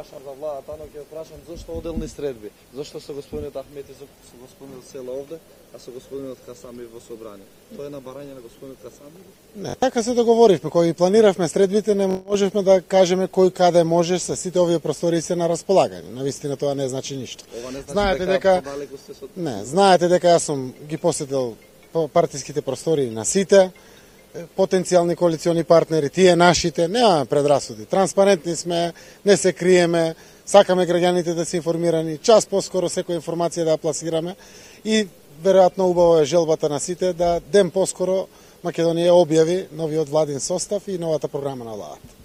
прашам за владата, но ќе прашам зошто оделни средби? Зошто со господинот Ахмети, со господинот Села овде, а со господинот Хасами во собрание? Тоа е на барање на господинот Хасами? Не, така се договоривме, кој планиравме средбите, не можевме да кажеме кој каде може, со сите овие простори се на располагање. Навистина тоа не значи ништо. Ова не значи знаете дека Не, знаете дека јас сум ги посетил партиските простори на сите потенцијални коалициони партнери, тие нашите, немаме предрасуди. Транспарентни сме, не се криеме, сакаме граѓаните да се информирани, час поскоро секоја информација да ја пласираме и веројатно убава е желбата на сите да ден поскоро Македонија објави новиот владин состав и новата програма на владата.